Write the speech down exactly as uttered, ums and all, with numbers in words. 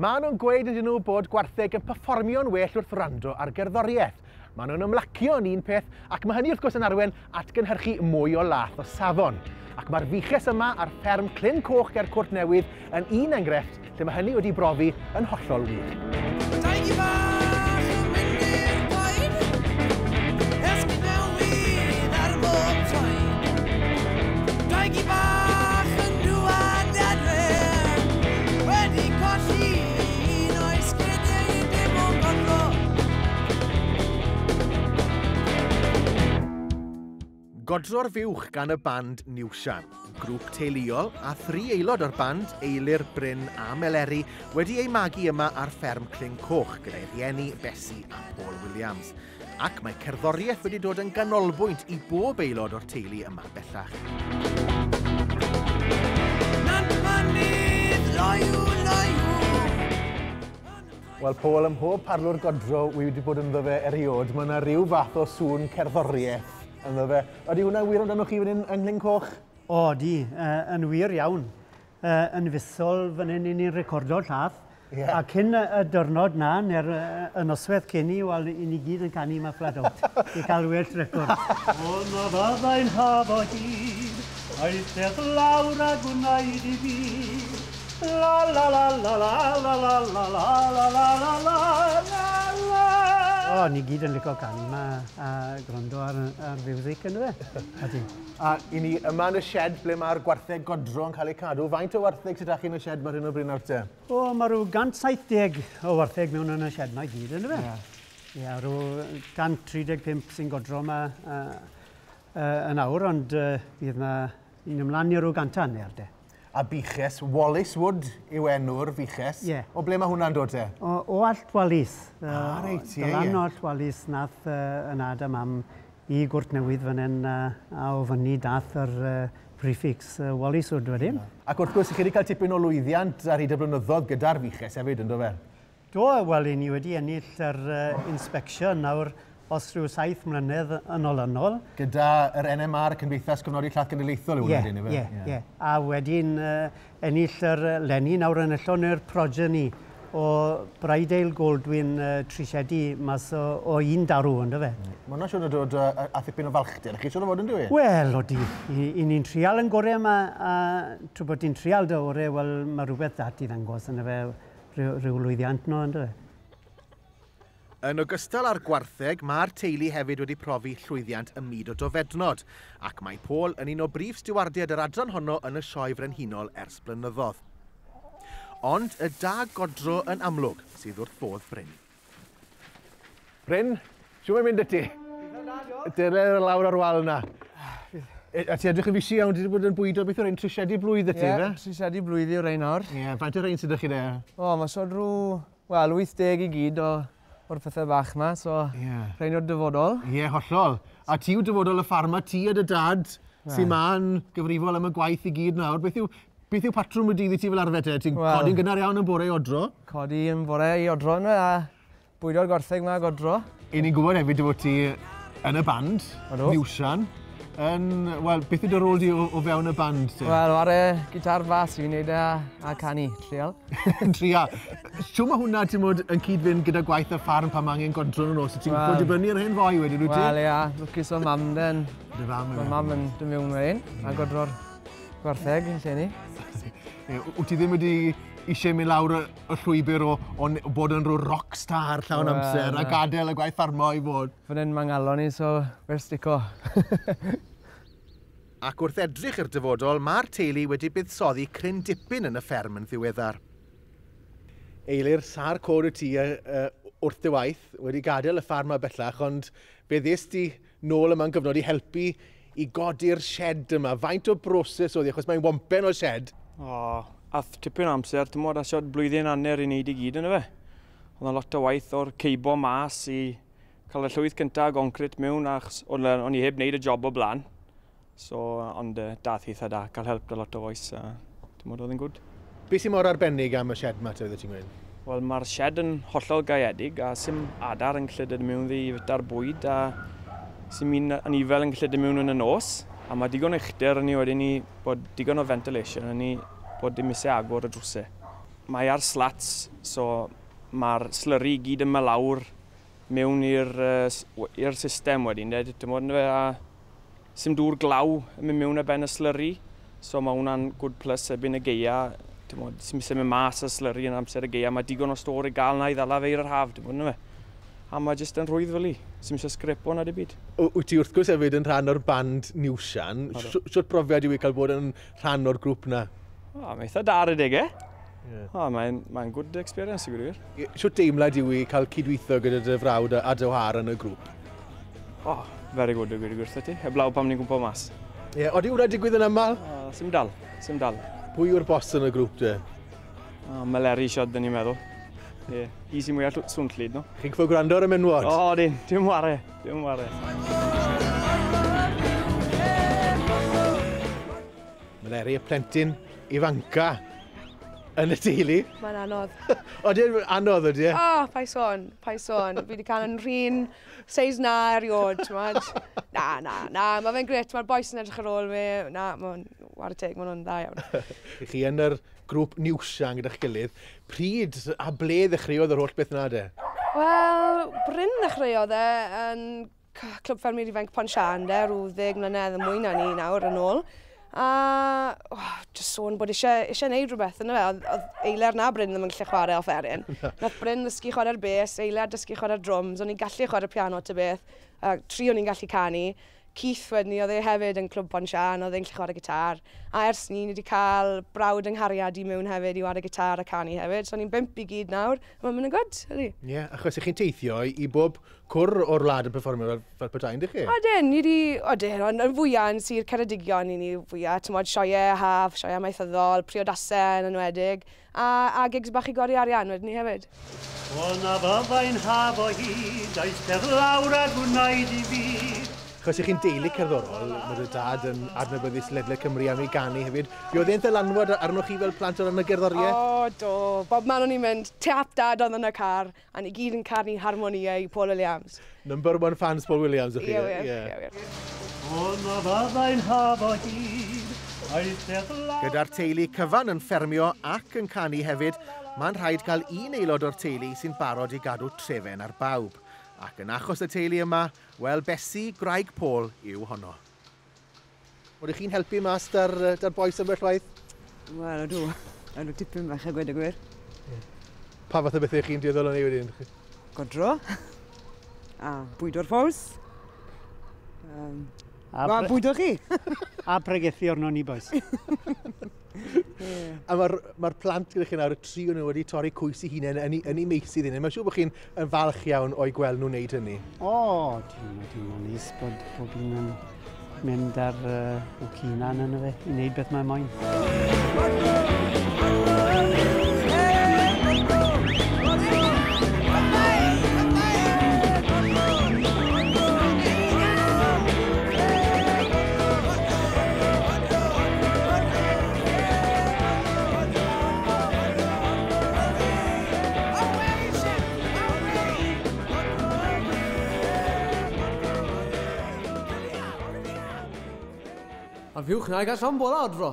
Maen nhw'n gweud ydyn nhw bod gwartheg yn perfformio'n well wrth wrando ar gerddoriaeth. Maen nhw'n ymlacio yn un peth, ac mae hynny wrth gwrs yn arwain at gynhyrchu mwy o lath o safon. Ac mae'r fuches yma ar fferm Clyn Coch ger Cwrt Newydd yn un enghraifft lle mae hynny wedi brofi yn hollol wir. Dau gi bach yn mynd i'r coed, esgid newydd ar bob troed. Dau gi bach yn dŵad adre, wedi colli un o'i sgidiau dim ond godro. Godro'r Fuwch gan y band Newshan, grŵp teuluol a thri aelod o'r band, Eilir, Bryn a Meleri, wedi eu magu yma ar fferm Clyn Coch gyda'i rhieni Bessie a Paul Williams. Ac mae cerddoriaeth wedi dod yn ganolbwynt i bob aelod o'r teulu yma bellach. Nant mynydd, loyw, loyw. Wel, Paul, ym mhob parlwr godro wi wedi bod ynddo fe eriod, mae yna rhyw fath o sŵn cerddoriaeth ynddo fe. Ydy hwnna'n wir amdano chi fan hyn yng Nghlyn Coch? O, di, uh, yn wir iawn. Uh, yn fisol fan hyn i ni'n recordo llath. Yeah. A cyn y, y diwrnod na, neu'r y noswaith cyn i, wel, i ni gyd yn canu ma flat out i cael well record. O, na fyddai'n haf o hyd, aethech lawr a gwnaed i fi. La la la la la la la la la la la la la la la. O, ni gyd yn licio canu ma a gwrando ar, ar fiwsig yn fe. Ydy. A i ni yma yn y shed ble mae'r gwartheg godro yn cael eu cadw. Faint o wartheg sydd â chi yn y shed mae'r hyn o bryd nawr te? O, mae rhyw cant saith deg o wartheg mewn yn y shed ma i gyd, yn fe? Ie, yeah, rhyw cant tri deg pump sy'n godro yma uh, uh, yn awr, ond uh, bydd na un ymlaen i rhyw gant a hanner de. A buches, Wallace Wood yw enw'r fuches. Ie. O ble mae hwnna'n dod te? O, o Allt Walis. Ah, reit, ie, ie. Lan o Allt Walis nath uh, y nad a mam i Gwrt Newydd fan hyn, uh, a o fyny dath yr uh, prefix uh, Wallace Wood wedyn. Ac wrth gwrs, chi wedi cael tipyn o lwyddiant ar hyd y blynyddoedd gyda'r fuches hefyd, ynddo fe? Do, wel, i ni wedi ennill yr uh, inspection nawr os rhyw saith mlynedd yn olynol. Gyda yr N M R, Cymdeithas Cofnodi Llath Genedlaethol yw hwnna, Ie, ife? ie, ie. A wedyn uh, ennill yr leni nawr enillon yr progeny o Bridale Goldwyn uh, Trisiedi mas o, o un darw, ynddo fe? Mae hwnna siŵr o dod uh, a thipyn o falchder, chi siŵr o fod yn dwi? Wel, odi. I, i ni'n trial yn gorau yma, a trwy bod ni'n trial dy orau, wel, mae rhywbeth dat i ddangos ynddo fe, rhyw, rhyw lwyddiant no, ynddo fe? Yn ogystal â'r gwartheg, mae'r teulu hefyd wedi profi llwyddiant ym myd o dofednod, ac mae Paul yn un o brif stiwardiaid yr adran honno yn y Sioe Frenhinol ers blynyddoedd. Ond y da godro yn amlwg sydd wrth fodd Bryn. Bryn, siw mae'n mynd y ti? Dere lawr ar wal na. A ti edrych yn fisi iawn, ti wedi bod yn bwydo beth yw'r ein trisiedi blwydd y ti, Ie, fe? trisiedi blwydd yw'r ein nawr. Ie, faint o'r ein sydd â chi de? O, mae sôn rhyw, wel, wyth deg i gyd o o'r pethau bach yma, so Ie. rhain o'r dyfodol. Ie, hollol. A ti yw dyfodol y ffarm, a ti a dy dad sy'n ma'n gyfrifol am y gwaith i gyd nawr. Beth yw, beth yw patrwm y dydd i ti fel arfer te? Ti'n Wel, codi'n gynnar iawn yn bore i odro? Codi yn bore i odro yna a bwydo'r gwartheg yma ag odro. I ni'n gwybod hefyd dy fod ti yn y band, Odw. Newshan. Yn, wel, beth yw dy rôl di o, o fewn y band te? Wel, ar y gitar fas fi'n neud e a, a canu, trial. Yn tria. Siw mae hwnna, ti'n modd, yn cyd-fynd gyda gwaith y ffarm pan mae angen godro yn y nos? Ti'n Wel. fod dibynnu ar hen foi wedyn, wyt ti? Wel, ia, lwcus o mam den. Dy fam, Mae ie. mam yn dod mewn wedyn, a godro'r gwartheg yn lle ni. Ie, Wyt ti ddim wedi eisiau mynd lawr y, y llwybr o, o ne- bod yn rhyw rock star llawn Wel, amser a na. gadael y gwaith ffarmo i fod? Fan hyn mae'n ngalon i, so we're stico. Ac wrth edrych i'r dyfodol, mae'r teulu wedi buddsoddi cryn dipyn yn y fferm yn ddiweddar. Eilir, sa'r cod y ti uh, wrth dy waith, wedi gadael y ffarm yma bellach, ond fe ddest ti nôl yma'n gyfnod i helpu i godi'r shed yma. Faint o broses oedd hi, achos mae'n wompen o shed. O, ath tipyn o amser, ti'n modd, asiod blwyddyn hanner i wneud i gyd yna fe. Oedd 'na lot o waith o'r ceibo mas i cael y llwyth cyntaf o goncrit mewn, achos o'n o'n i heb wneud y job o blaen. So, ond uh, dath eitha da, cael help da lot o fois, a ti'n modd oedd yn gwd. Beth sy'n mor arbennig am y shed yma, te, oeddet ti'n gweud? Wel, mae'r shed yn hollol gaeedig a sim adar yn gallu dod mewn ddi i fyta'r bwyd a sim un anifel yn gallu dod mewn yn y nos. A mae digon o uchder yn ni wedyn ni bod digon o ventilation yn ni bod dim isie agor y drwsau. mae ar slats, so mae'r slurry i gyd yn mynd lawr mewn i'r uh, system wedyn, de, ti'n bod, a sim dŵr glaw yn mynd mewn ar ben y slurry, so mae hwnna'n good plus erbyn y gaea, ti'n bod, sim isie mynd mas y slurry yn amser y gaea, mae digon o stôr i gael na i ddala fe i'r haf, ti'n bod, yndyfe. A mae jyst yn rhwydd fel i, sim isie sgrepo na dim byd. Wyt ti wrth gwrs hefyd yn rhan o'r band Newsian, siwt profiad yw i cael bod yn rhan o'r grŵp na? O, mae eitha da ar y deg, e? Yeah. O, mae'n mae good experience i gwir. Siwt deimlad yw i cael cydweithio gyda dy frawd a dy whar yn y grŵp? O, oh, very good i gwir i gwirtho ti. Heblaw pam ni'n gwmpo mas. Ie, yeah, odi hwnna digwydd yn aml? O, sim dal, sim dal. Pwy yw'r boss yn y grŵp de? O, Meleri siod, dyn ni'n meddwl. Ie, yeah. I sy'n mwyaf swnllyd, no? Chi'n gwybod gwrando ar y menwod? O, oh, dyn, dim ware, dim ware. Meleri, y plentyn ifanca yn y teulu. Mae'n anodd. Odi e'n anodd, ydy e? O, oh, pa'i sôn, pa'i sôn. Fi wedi cael yn rhan seis na eriod, t'mod. Na, na, na, mae fe'n gret, mae'r bois yn edrych ar ôl fi. Na, mae'n whare teg, maen nhw'n dda iawn. Chi yn yr grŵp Newsian gyda'ch gilydd, pryd a ble ddechreuodd yr holl beth na de? Wel, Bryn ddechreuodd e yn Clwb Ffermwyr Ifanc Pontsian de, rhyw ddeg mlynedd yn mwy na ni nawr yn ôl. A oh, just sôn bod eisiau, eisiau neud rhywbeth yna fe. Oedd, oedd Eiler na Bryn ddim yn gallu chwarae offeryn. Nath Bryn ddysgu chwarae'r bes, Eiler dysgu chwarae'r drums, o'n i'n gallu chwarae'r piano ta beth, a tri o'n i'n gallu canu. Keith wedyn ni, oedd e hefyd yn Clwb Pontsian, oedd e'n gallu chwarae gitar. A ers ni, ni wedi cael brawd yng nghariad i mewn hefyd i chwarae gitar a canu hefyd. So ni'n bump i gyd nawr, a mae'n mynd yn good, ydy. Ie, yeah, achos ych chi'n teithio i bob cwr o'r wlad yn perfformio fel, fel petai, yndych chi? Odyn, ni wedi, odyn, ond yn fwyaf yn Sir Ceredigion i ni fwyaf, ti'n modd sioeau haf, sioeau amaethyddol, priodasau yn enwedig, a, a gigs bach i godi arian wedyn ni hefyd. O na fyddai'n haf o hyd, eistedd lawr a gwnaed i fi. Achos ych chi'n deulu cerddorol, mae dy dad yn adnabyddus ledled Cymru am ei ganu hefyd. Fi oedd e'n ddylanwad arnoch chi fel plant o ran y gerddoriaeth? O, do. Bob man o'n i'n mynd, tap dad oedd yn y car, a ni gyd yn canu harmoniau i Paul Williams. Number one fans Paul Williams, ych chi? Ie, wir, ie, wir. O na fyddai'n haf o hyd, eistedd lawr... Gyda'r teulu cyfan yn ffermio ac yn canu hefyd, mae'n rhaid cael un aelod o'r teulu sy'n barod i gadw trefen ar bawb. Ac yn achos y teulu yma, wel, Bessie, gwraig Paul, yw honno. Oeddech chi'n helpu mas da'r, da'r bois ambell waith? Wel, ydw. Ydw tipyn bach a gweud y gwir. Yeah. Pa fath o bethau chi'n dueddol o wneud wedyn? Godro. A bwydo'r ffos. Um, a bwydo chi. A pregethu arno ni, bois. Yeah. A mae'r ma plant gyda chi nawr, y tri o'n nhw wedi torri cwys eu hunain yn, yn eu meysydd hunain. Mae'n siŵr bod chi'n yn falch iawn o'i gweld nhw'n wneud hynny. O, dwi'n teimlo'n neis bod bob un yn mynd ar uh, o hunan yna fe, i wneud beth mae'n moyn. A fiwch na i gael llond bola odro.